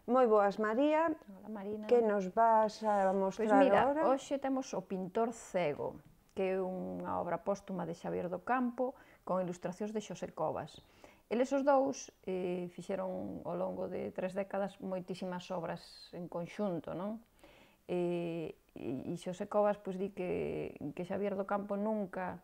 Moi boas, María. Hola, Marina. Que nos vas a Pois mostrar mira, agora? hoxe temos O pintor cego, que é unha obra póstuma de Xavier do Campo con ilustracións de Xosé Covas. Eles os dous fixeron ao longo de 3 décadas moitísimas obras en conxunto, non? E Xosé Covas pois, di que Xavier do Campo nunca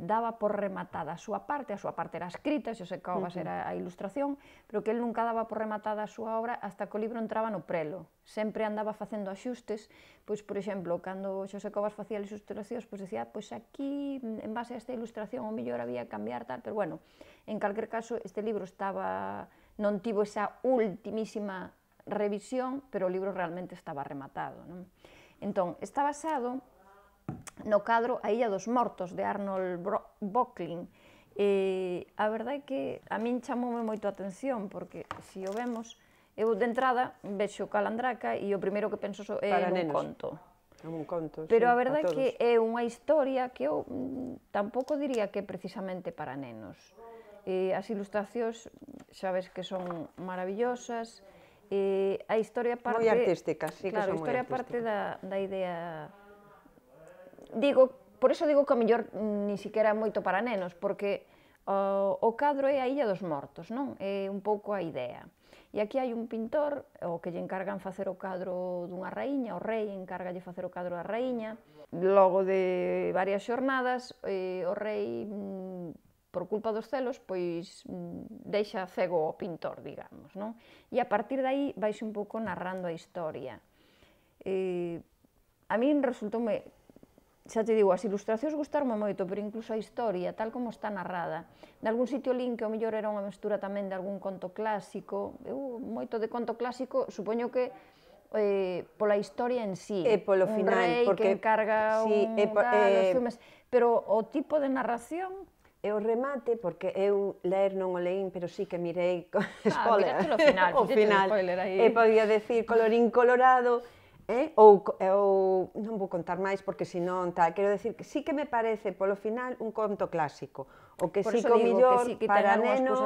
daba por rematada a súa parte era escrita, Xosé Covas era a ilustración, pero que el nunca daba por rematada a súa obra hasta que o libro entraba no prelo. Sempre andaba facendo axustes, pois, por exemplo, cando Xosé Covas facía as ilustracións, pois decía, pois aquí, en base a esta ilustración, o mellor había que cambiar tal, pero bueno, en calquer caso, este libro non tivo esa ultimísima revisión, pero o libro realmente estaba rematado, non? Entón, está basado no cadro A Illa dos Mortos, de Arnold Böcklin. A verdade é que a min chamoume moito a atención, porque, se o vemos, eu de entrada vexo Calandraca e o primeiro que penso é nun conto. Un conto, pero a verdade é que é unha historia que eu tampouco diría que é precisamente para nenos. As ilustracións, xa ves que son maravillosas, a historia parte... Moi artísticas, sí que son moi artísticas. Claro, a historia parte da idea... Por iso digo que a mellor ni siquiera é moito para nenos, porque o cadro é a Illa dos Mortos, non? É un pouco a idea. E aquí hai un pintor, o que lle encargan facer o cadro dunha raíña, o rei encárgalle facer o cadro da raíña. Logo de varias xornadas, o rei, por culpa dos celos, pois deixa cego o pintor, digamos, non? E a partir de aí vaise un pouco narrando a historia. A min resultoume... Xa te digo, as ilustracións gustaronme moito, pero incluso a historia, tal como está narrada. Nalgún sitio lin que o mellor era unha mestura tamén de algún conto clásico. Eu, moito de conto clásico, supoño que pola historia en sí. E polo final, un rei que encarga os filmes. Pero o tipo de narración... E o remate, porque eu ler non o leín, pero sí que mirei spoiler. Miraste o final, e podía decir colorín colorado, ou non vou contar máis porque senón tal, quero decir que sí que me parece polo final un conto clásico, o que sí que o mellor para nenos,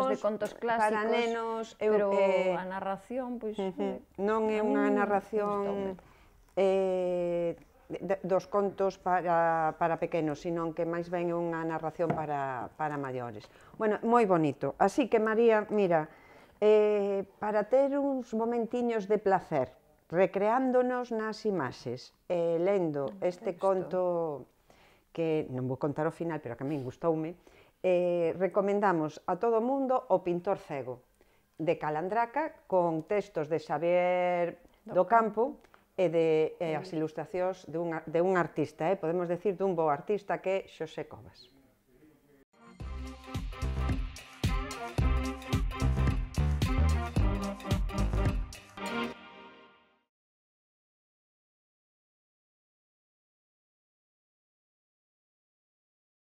pero a narración, pois... Non é unha narración dos contos para pequenos, sino que máis ben é unha narración para maiores. Bueno, moi bonito. Así que, María, mira, para ter uns momentiños de placer, recreándonos nas imaxes, lendo este conto, que non vou contar o final, pero que a min gustoume, recomendamos a todo o mundo O pintor cego, de Calandraca, con textos de Xavier do Campo, e as ilustracións de un artista, podemos decir dun bo artista que é Xosé Covas.